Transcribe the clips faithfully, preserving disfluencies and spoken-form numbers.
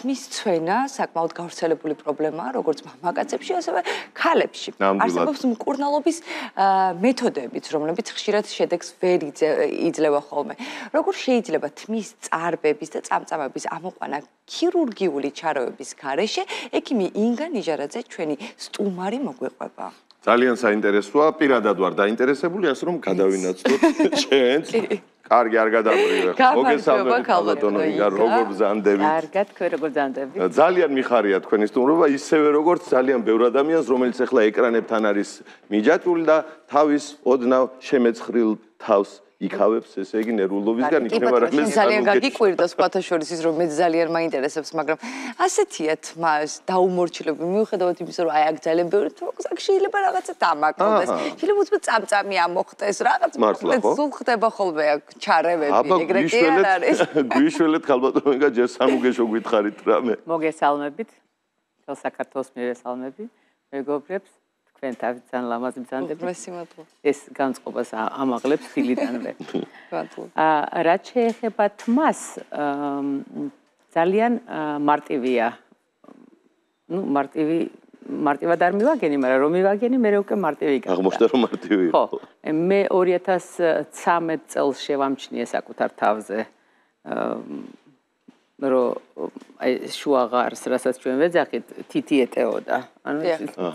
თმის ცვენა საკმაოდ გავრცელებული პრობლემაა, როგორც მამაკაცებში, ასევე ქალებში. არსებობს მკურნალობის მეთოდებიც, რომლებიც ხშირად შედეგს ვერ იძლევა ხოლმე. როგორ შეიძლება თმის წარბების და წამწამების ამოყვანა ქირურგიული ჩარევების გარეშე, ექიმი ინგა ნიჟარაძე ჩვენი სტუმარი მოგვიყვება. ძალიან საინტერესოა, პირადად ვარ დაინტერესებული, ასე რომ გადავინაცვლოთ ჩვენს. კარგი, არ გადავრივე. მოგესალმებით, ქალბატონო იგარ, როგორ ბრძანდებით? კარგად, თქვენ როგორ ბრძანდებით? ძალიან მიხარია თქვენი სტუმრობა, ისევე როგორც ძალიან ბევრ ადამიანს, რომელიც ახლა ეკრანებთან არის მიჯაჭვული და თავის ოდნავ შემეცხრილ თავს იქავებს, ესე იგი ნერვულობისგან იქნება რაღაც ძალიან გაგიკვირდა სხვათა შორის ის რომ მე ძალიან მაინტერესებს, მაგრამ ასეთია თმას დაუმორჩილებული მიუხედავად იმისა, რომ აი აქ ძალიან ბევრი თქოს შეიძლება რაღაცა დამაკრდეს. შეიძლება უცბად წამწამი ამოხტეს, რაღაც სულ ხდება ხოლმე აქ ჩარევები, ეგრეთი არ არის. გვიშველეთ ხალბატონო, ჯერ სამუგეშო გითხარით რამე. მოგესალმებით. თელ საქართველოს მივესალმები. მეგობრებს თქვენ თავით ძალიან ლამაზი ბრძანდებით. ეს განწყობას ამაღლებს ხილიდანვე. აა რაც შეეხება თმას, ძალიან მარტივია. ნუ მარტივი მარტივად არ მივაგენი, მაგრამ რომ მივაგენი, მე უკვე მარტივი გახდა. აღმოჩნდა რომ მარტივი იყო. ხო, მე ორი ათას ცხრამეტ წელს შევამჩნიე საკუთარ თავზე. რომ აი შუაღარს, რასაც ჩვენ ვეძახით, თითი ეტეოდა. ანუ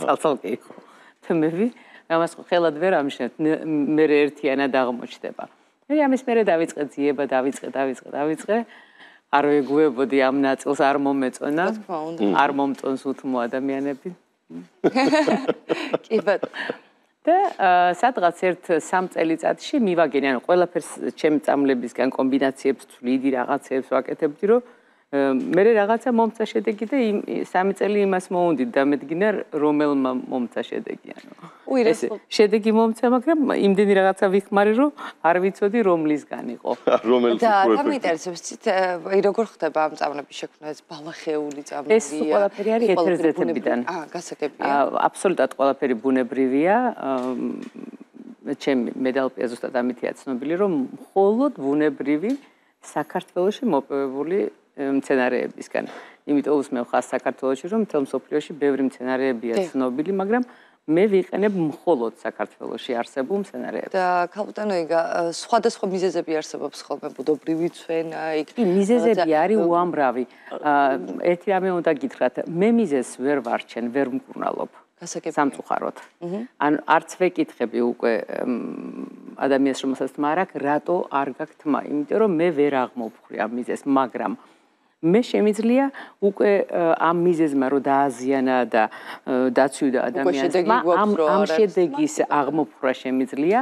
ცალ-ცალკე იყო. თმები, ამას ხელად ვერ ამშნევთ, მე ერთიანად აღმოჩნდება. მე ამის მერე დავიწყე ძიება, დავიწყე, დავიწყე, დავიწყე. არ ვეგუებოდი ამ ნაწილს, არ მომეწონა. არ მომწონს უთმო ადამიანები. კი ბატონო. და სადღაც ერთ სამ წელიწადში მივაგენი, ანუ ყველაფერს ჩემი წამლებისგან კომბინაციებს ვთვლიდი, რაღაცებს ვაკეთებდი, რომ მე რაღაცა მომცა შედეგი და სამი წელი იმას მოუნდით და მედგინა რომელმა მომცა შედეგი, ანუ ეს შედეგი მომცა, მაგრამ იმდენი რაღაცა ვიხმარი, რომ არ ვიცოდი რომლისგან იყო. რომელს და რა მიინტერესებს, აი როგორ ხდება ამ წამლების შექმნა, ეს ბალახეული წამლებია? ეს ყველაფერი არის ეთერზეთებიდან. აა, გასაგებია. აბსოლუტურად ყველაფერი ბუნებრივია. ჩემი მედალპია ზუსტად ამითია ცნობილი, რომ მხოლოდ ბუნებრივი საქართველოში მოპოვებული მცენარეებისგან. იმიტომ უსმევ ხას საქართველოში, რომ მთელ მსოფლიოში ბევრი მცენარეებია ცნობილი, მაგრამ მე ვიყენებ მხოლოდ საქართველოში არსებულ მცენარეებს. და ქალბატონო იგა, სხვადასხვა მიზეზები არსებობს ხოლმე, ბუდობრივი ცვენა, იქ მიზეზები არის უამრავი. ერთი რამე უნდა გითხრათ, მე მიზეზს ვერ ვარჩენ, ვერ მკურნალობ. სამწუხაროდ. ან არც ვეკითხები უკვე ადამიანს, რომელსაც თმა არ აქვს, რატო არ გაქვს თმა? იმიტომ რომ მე ვერ აღმოვხვრი ამ მიზეზს, მაგრამ მე შემიძლია უკვე ამ მიზეზმა რომ დააზიანა და დაცვიდა ადამიანს თმა, ამ ამ შედეგის აღმოფხვრა შემიძლია,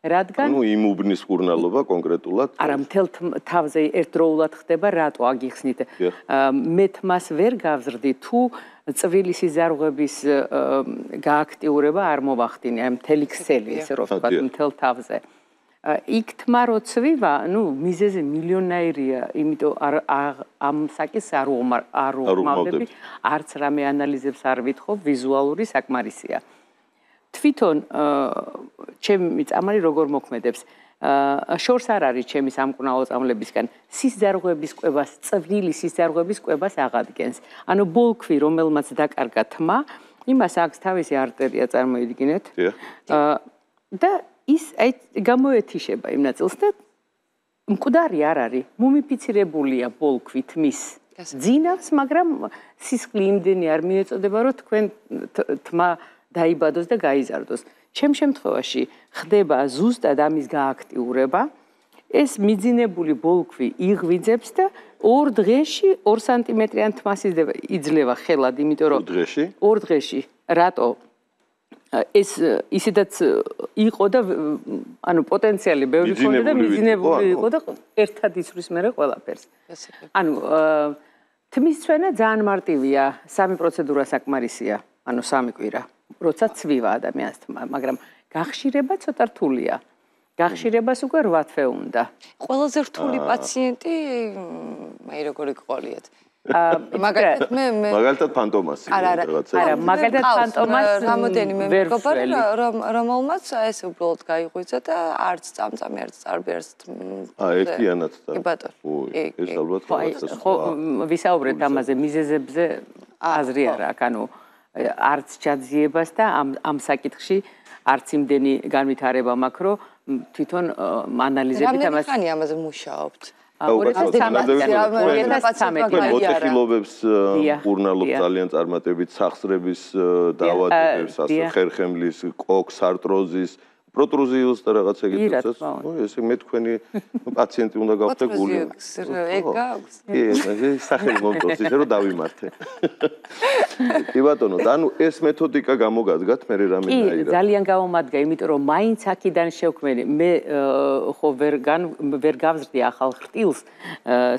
რადგან ნუ იმ უბნის მკურნალობა კონკრეტულად არა მთელ თავზე ერთდროულად ხდება, რატო აგიხსნით? მე თმას ვერ გავზრდი თუ წვილი სიზარღვების გააქტიურება არ მოვახდინე, აი მთელი ქსელი, ესე რომ ვთქვათ, მთელ თავზე. იქ თმა რო ცვივა, ნუ მიზეზი მილიონაირია, იმიტომ ამ საკის არ უღმავდები, არც რამე ანალიზებს არ ვითხოვ, ვიზუალური საკმარისია. თვითონ ჩემი წამალი როგორ მოქმედებს? შორს არ არის ჩემი სამკურნალო წამლებისგან სიზარღვების კვებას, წვრილი სიზარღვების კვებას აღადგენს. ანუ ბოლქვი, რომელმაც დაკარგა თმა, იმას აქვს თავისი არტერია, წარმოიდგინეთ. და ის აი გამოეთიშება იმ ნაწილს და მკვდარი არ არის, მუმიფიცირებულია ბოლქვი თმის ძინავს, მაგრამ სისხლი იმდენი არ მიეწოდება, რომ თქვენ თმა დაიბადოს და გაიზარდოს. ჩემ შემთხვევაში ხდება ზუსტად ამის გააქტიურება, ეს მიძინებული ბოლქვი იღვიძებს და ორ დღეში ორ სანტიმეტრიან თმას იძლევა ხელად, იმიტომ რომ ორ დღეში, რატო? ეს ისედაც იყო და ანუ პოტენციალი ბევრი ქონდა და მიძინებული იყო და ერთად იცვლის მერე ყველაფერს. ანუ თმის ცვენა ძალიან მარტივია, სამი პროცედურა საკმარისია, ანუ სამი კვირა. როცა ცვივა ადამიანს თმა, მაგრამ გახშირება ცოტა რთულია. გახშირებას უკვე რვა თვე უნდა. ყველაზე რთული პაციენტი, აი როგორი გყოლიათ. მაგალითად მე მე მაგალითად ფანტომასი რაღაცა. არა, მაგალითად ფანტომას რამოდენიმე მეგობარი რომელმაც ეს უბრალოდ გაიღვიძა და არც წამწამი არც წარბი არც აა ერთიანად და კი ბატონო. ეს ალბათ ხო ვისაუბრეთ ამაზე მიზეზებზე აზრი არა აქ ანუ არც ჩაძიებას და ამ ამ საკითხში არც იმდენი განვითარება მაქვს რომ თვითონ ანალიზებით ამას რამდენი ხანი ამაზე მუშაობთ? ორი ათას ცხრამეტი მოტეხილობებს ურნალობ ძალიან წარმატებით სახსრების დაავადებებს ასე ხერხემლის კოქს არტროზის პროტრუზიულს და რაღაც ეგეთსაც ესე მე თქვენი პაციენტი უნდა გავხდე გული ეგ გაქვს კი ეს სახელი მომწონს ისე რომ დავიმართე კი ბატონო და ანუ ეს მეთოდიკა გამოგადგათ მე რამენაირად კი ძალიან გამომადგა იმიტომ რომ მაინც აქიდან შევქმენი მე ხო ვერ ვერ გავზრდი ახალ ხრტილს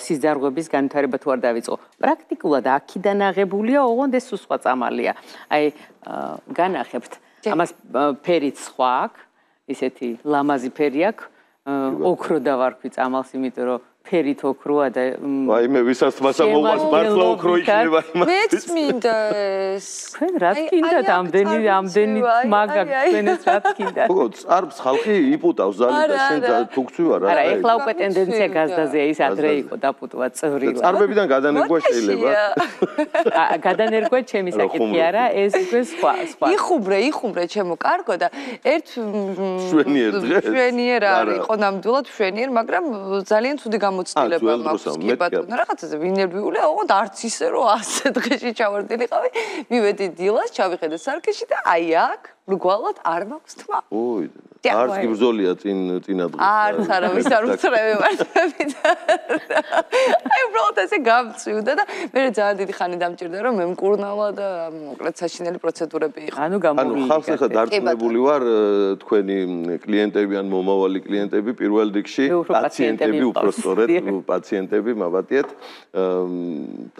სიზარღვების განვითარება თუ არ დავიწყო პრაქტიკულად აქიდან აღებულია ოღონდ ეს სხვა წამალია აი განახებთ ამას ფერიც სხვა აქვს ისეთი ლამაზი ფერი აქვს ოქრო დავარქვი წამალს იმიტომ რომ ფერით ოქროა და აი მე ვისაც მასამოვას მართლა ოქრო იქნება მეც მინდა ეს თქვენ რა გქინდათ ამდენი ამდენი მაგა თქვენს რა გქინდათ ხო წარბს ხალხი იპუტავს ძალიან და შენ თუქცი ვარ არა ეხლა უკვე ტენდენცია გაზდაზეა ის ადრე იყო დაპუტვა წვრილა წარბებიდან გადანერგვა შეიძლება გადანერგვა ჩემი საკითხი არა ეს უკვე სხვა სხვა იხუბრე იხუბრე ჩემო კარგო და ერთ შვენიერ დღეს შვენიერ არ იყო ნამდვილად შვენიერ მაგრამ ძალიან ცუდი მოცდილება მაქვს კი ბატონო რაღაცაზე ვინერვიულია ოღონდ არც ისე რომ ასე დღეში ჩავარდნილიყავი მივედი დილას ჩავიხედე სარკეში და აი აქ მრგვალად არ მაქვს თმა ოი არც კი ბრძოლია წინ წინა დღეს არც არავის არ უცრევი მარტები აი უბრალოდ ესე გამწვივდა და მე ძალიან დიდი ხანი დამჭირდა რომ მე მკურნალა და მოკლედ საშინელი პროცედურები იყო ანუ გამოვიდა ანუ ხალხს ახლა დარწმუნებული ვარ თქვენი კლიენტები ან მომავალი კლიენტები პირველ რიგში პაციენტები უფრო სწორედ პაციენტები მაბატიეთ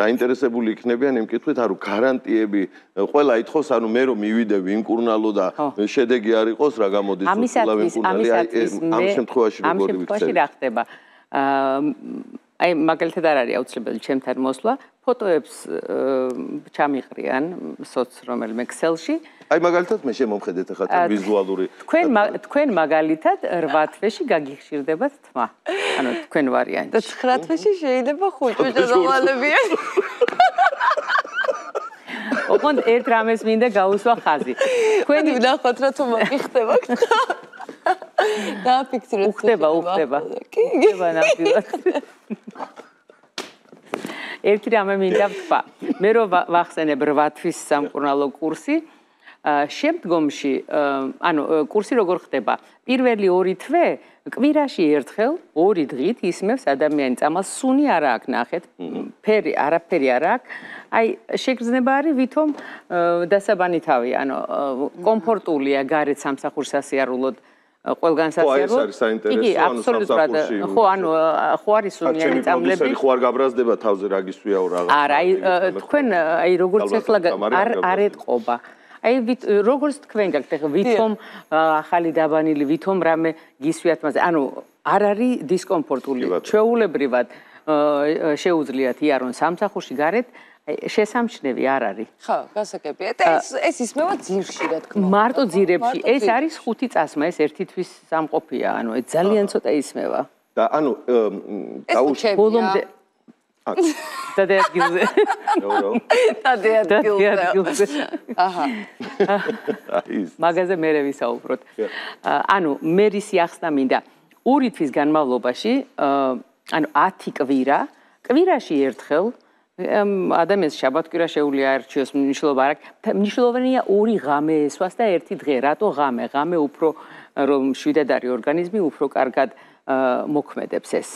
დაინტერესებული იქნებიან იმ კითხვით ანუ გარანტიები ყველა ითხოვს ანუ მე რომ მივიდე ვიმკურნალო და შედეგი არ იყოს რა გამოდის ამისათვის ამისათვის ამ შემთხვევაში როგორი ვიცი რა ხდება აი მაგალითად არ არის აუცილებელი ჩემთან მოსვლა ფოტოებს ჩამიყრიან სოც რომელიმე ქსელში აი მაგალითად მე შემომხედეთ ახლა თან ვიზუალური თქვენ თქვენ მაგალითად რვა თვეში გაგიხშირდებათ თმა ანუ თქვენ ვარიანტი და ცხრა თვეში შეიძლება ხუჭუჭა დავალებიან ოღონდ ერთ რამეს მინდა გაუსვა ხაზი. თქვენი ვნახოთ რა თუ მოგიხდება. დააფიქსირეთ. უხდება, უხდება. კი, უხდება ნამდვილად. ერთი რამე მინდა ვთქვა. მე რო ვახსენებ რვა თვის სამკურნალო კურსი, შემდგომში, ანუ კურსი როგორ ხდება? პირველი ორი თვე კვირაში ერთხელ ორი დღით ისმევს ადამიანი წამალს, სუნი არა აქვს ნახეთ, ფერი არაფერი არა აქვს. აი შეგრძნება არის ვითომ დასაბანი თავი, ანუ კომფორტულია გარეთ სამსახურს ასიარულოდ ყველგან სასიარულოდ. იგი აბსოლუტურად ხო, ანუ ხო არის სუნიანი წამლები. ხო არ გაბრაზდება თავზე რა გისვიაო რაღაც. არა, აი თქვენ აი როგორც ახლა არ არ ეთყობა. აი როგორც თქვენ გაქვთ ახლა ვითომ ახალი დაბანილი ვითომ რამე გისვიათ მასე ანუ არ არის დისკომფორტული ჩვეულებრივად შეუძლიათ იარონ სამსახურში გარეთ შესამჩნევი არ არის ხო გასაგებია და ეს ეს ისმევა ძირში რა თქმა უნდა მარტო ძირებში ეს არის ხუთი წასმა ეს ერთი თვის სამყოფია ანუ ეს ძალიან ცოტა ისმევა და ანუ დაუშვი ბოლომდე და ადგილზე. და ადგილზე. აჰა. მაგაზე მე ვისაუბროთ. ანუ მერისი ახსნა მინდა ორი თვის განმავლობაში, ანუ ათი კვირა, კვირაში ერთხელ ადამიანს შაბათ-კვირა შეუძლია არჩიოს მნიშვნელობა არ აქვს. მნიშვნელოვანია ორი ღამე ესვას და ერთი დღე. რატო ღამე? ღამე უფრო რომ შვიდად არის ორგანიზმი, უფრო კარგად მოქმედებს ეს.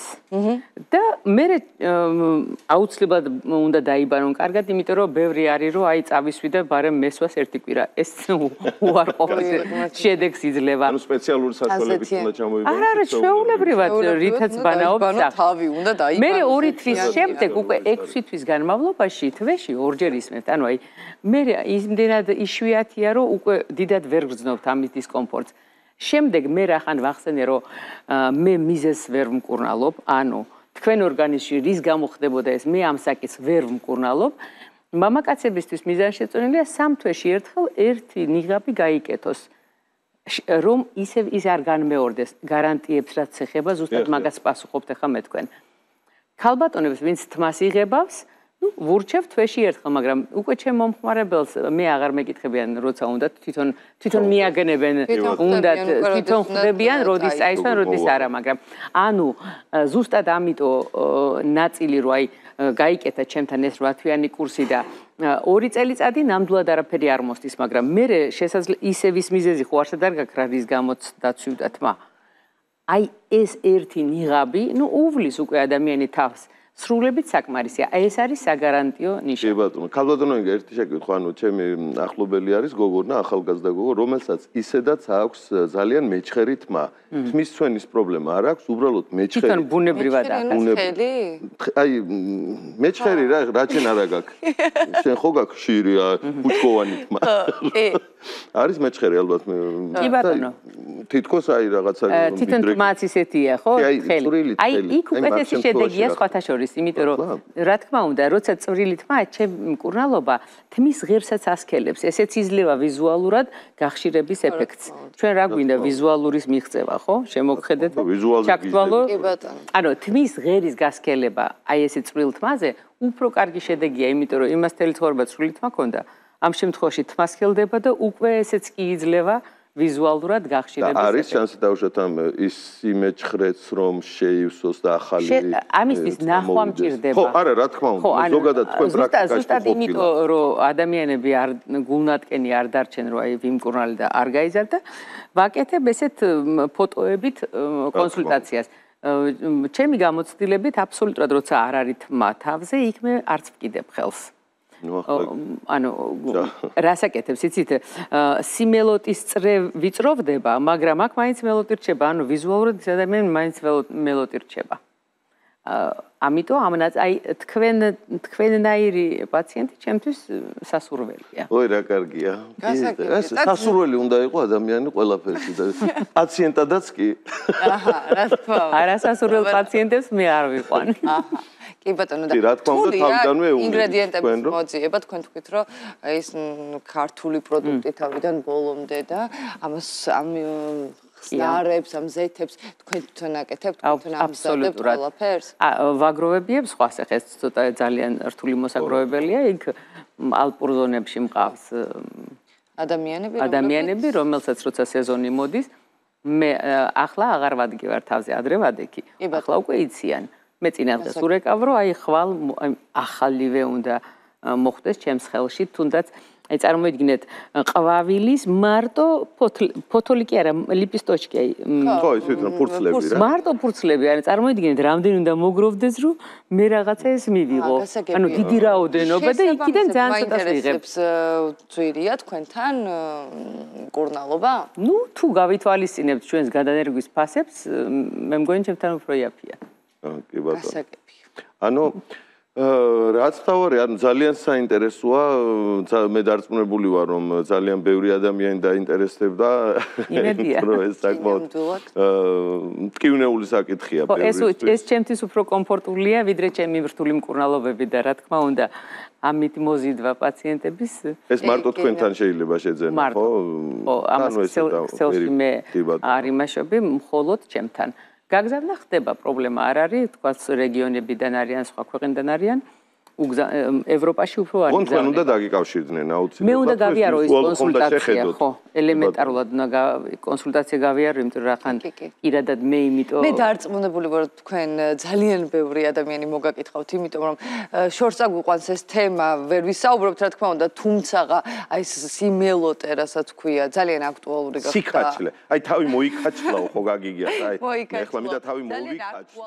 და მე აუცილებლად უნდა დაიბანონ კარგად, იმიტომ რომ ბევრი არის რომ აი წავისვი და ბარემ მესვას ერთი კვირა. ეს უარყოფის შედეგს იძლევა. ანუ სპეციალური საშუალებებით უნდა ჩამოიბანო. არა, არა, ჩვეულებრივად რითაც ბანაობს. თავი უნდა დაიბანო. მე ორი თვის შემდეგ უკვე ექვსი თვის განმავლობაში თვეში ორჯერ ისმევთ. ანუ აი მე იმდენად იშვიათია რომ უკვე დიდად ვერ გრძნობთ ამის დისკომფორტს. შემდეგ მე რახან ვახსენე რომ მე მიზეს ვერ მკურნალობ, ანუ თქვენ ორგანიზმში რის გამო ხდებოდა ეს, მე ამ საკითხს ვერ ვმკურნალობ. მამაკაცებისთვის მიზანშეწონილია სამ თვეში ერთხელ ერთი ნიღაბი გაიკეთოს. რომ ისევ ის არ განმეორდეს გარანტიებს რაც ეხება ზუსტად მაგას პასუხობთ ახლა მე თქვენ. ქალბატონებს ვინც თმას იღებავს, ну, ვურჩევ თვეში ერთხელ, მაგრამ უკვე ჩემ მომხმარებელს მე აღარ მეკითხებიან, როცა უნდა თვითონ თვითონ მიაგნებენ, უნდა თვითონ ხდებიან, როდის წაისვენ, როდის არა, მაგრამ ანუ ზუსტად ამიტომ ნაწილი რო აი გაიკეთა ჩემთან ეს რვა თვიანი კურსი და ორი წელიწადი ნამდვილად არაფერი არ მოსდის, მაგრამ მე შესაძლოა ისევ ის მიზეზი ხო არსად არ გაქვს რა რის გამოც დაცვიდა თმა. აი ეს ერთი ნიღაბი, ну, უვლის უკვე ადამიანი თავს. სრულებით საკმარისია. ეს არის საგარანტიო ნიშა. კი ბატონო, ქალბატონო, ერთი შეკითხვა, ანუ ჩემი ახლობელი არის გოგონა, ახალგაზრდა გოგო, რომელსაც ისედაც აქვს ძალიან მეჩხერი თმა. თმის ცვენის პრობლემა არ აქვს, უბრალოდ მეჩხერი. თვითონ ბუნებრივად აქვს. აი, მეჩხერი რა, რაჩენ არა გაქვს. შენ ხო გაქვს შირი, ბუჩქოვანი თმა. არის მეჩხერი ალბათ. კი ბატონო. თითქოს აი რაღაცა თვითონ თმაც ისეთია, ხო? ხელი. აი, იქ უკეთესი შედეგია სხვათა შორის. იმიტომ რომ რა თქმა უნდა, როცა წვრილი თმა, ჩემ მკურნალობა თმის ღირსაც ასქელებს. ესეც იძლევა ვიზუალურად გახშირების ეფექტს. ჩვენ რა გვინდა ვიზუალურის მიღწევა, ხო? შემოგხედეთ? ჩაქტვალო. ანუ თმის ღერის გასქელება, აი ესე წვრილ თმაზე, უფრო კარგი შედეგია, იმიტომ რომ იმას თელი ცხოვრება წვრილი თმა ქონდა. ამ შემთხვევაში თმა სქელდება და უკვე ესეც კი იძლევა ვიზუალურად გახშირების ეფექტს. არის შანსი დავუშვათ ამ ის იმეჩხრეც რომ შეივსოს და ახალი ამისთვის ნახვა მჭირდება. ხო, არა, რა თქმა უნდა, ზოგადად თქვენ პრაქტიკაში ზუსტად იმიტომ რომ ადამიანები არ გულნატკენი არ დარჩენ რომ აი ვიმკურნალი და არ გაიზარდა, ვაკეთებ ესეთ ფოტოებით კონსულტაციას. ჩემი გამოცდილებით აბსოლუტურად როცა არ არის თმა თავზე, იქ მე არც ვკიდებ ხელს. ანუ რასაკეთებს იცით სიმელოტის წრე ვიწროვდება, მაგრამ აქ მაინც მელოტი რჩება, ანუ ვიზუალურად ის ადამიანი მაინც მელოტი რჩება. ამიტომ ამაც აი თქვენ თქვენნაირი პაციენტი ჩემთვის სასურველია. ой, რა კარგია. სასურველი უნდა იყოს ადამიანი ყველაფერში და პაციენტადაც კი. აჰა, რა თქმა უნდა. არასასურველ პაციენტებს მე არ ვიყვან. აჰა. კი ბატონო და რა თქმა უნდა თავიდანვე ინგრედიენტების მოძიება თქვენ თქვით რომ ეს ქართული პროდუქტი თავიდან ბოლომდე და ამას ამ ხსნარებს, ამ ზეთებს თქვენ თვითონ აკეთებთ, თქვენ ამზადებთ ყველაფერს? ვაგროვებიებ სხვას ახლა ეს ცოტა ძალიან რთული მოსაგროვებელია, იქ ალპურ ზონებში მყავს ადამიანები, ადამიანები, რომელსაც როცა სეზონი მოდის, მე ახლა აღარ ვადგი ვარ თავზე, ადრე ვადექი. ახლა უკვე იციან. მე წინასწარ ურეკავ რომ აი ხვალ ახალივე უნდა მოხდეს ჩემს ხელში, თუნდაც აი წარმოიდგინეთ ყვავილის მარტო ფოთოლი კი არა, ლიპისტოჩკი აი ხო, ის თვითონ ფურცლები რა. მარტო ფურცლები, აი წარმოიდგინეთ რამდენი უნდა მოგროვდეს რომ მე რაღაცა ეს მივიღო. ანუ დიდი რაოდენობა და იქიდან ძალიან ცოტას ვიღებ. ძვირია თქვენთან მკურნალობა? ნუ თუ გავითვალისწინებთ ჩვენს გადანერგვის ფასებს, მე მგონი ჩემთან უფრო იაფია. კი ბატონო. ანუ რაც თავარი, ანუ ძალიან საინტერესოა, მე დარწმუნებული ვარ, რომ ძალიან ბევრი ადამიანი დაინტერესდება რომ ეს საკმაოდ მტკივნეული საკითხია ბევრი. ეს ჩემთვის უფრო კომფორტულია, ვიდრე ჩემი მრთული მკურნალობები და რა თქმა უნდა, ამით მოზიდვა პაციენტების. ეს მარტო თქვენთან შეიძლება შეძენა, ხო? ხო, ამას ხსელში მე არ იმაშობი, მხოლოდ ჩემთან. გაგზავნა ხდება, პრობლემა არ არის, თქვა რეგიონებიდან არიან, სხვა ქვეყნიდან არიან, ევროპაში უფრო არის. თქვენ უნდა დაგიკავშირდნენ აუცილებლად. მე უნდა გავიარო ის კონსულტაცია, ხო, ელემენტარულად უნდა კონსულტაცია გავიარო, იმიტომ რომ ხან პირადად მე იმიტომ მე დარწმუნებული ვარ თქვენ ძალიან ბევრი ადამიანი მოგაკითხავთ, იმიტომ რომ შორს აგვიყვანს ეს თემა, ვერ ვისაუბრობთ რა თქმა უნდა, თუმცა აი ეს სიმელოტე, რასაც ქვია, ძალიან აქტუალური გახდა. სიკაჩლე. აი თავი მოიკაჩლაო, ხო გაგიგიათ, აი. ეხლა მინდა თავი მოვიკაჩლო.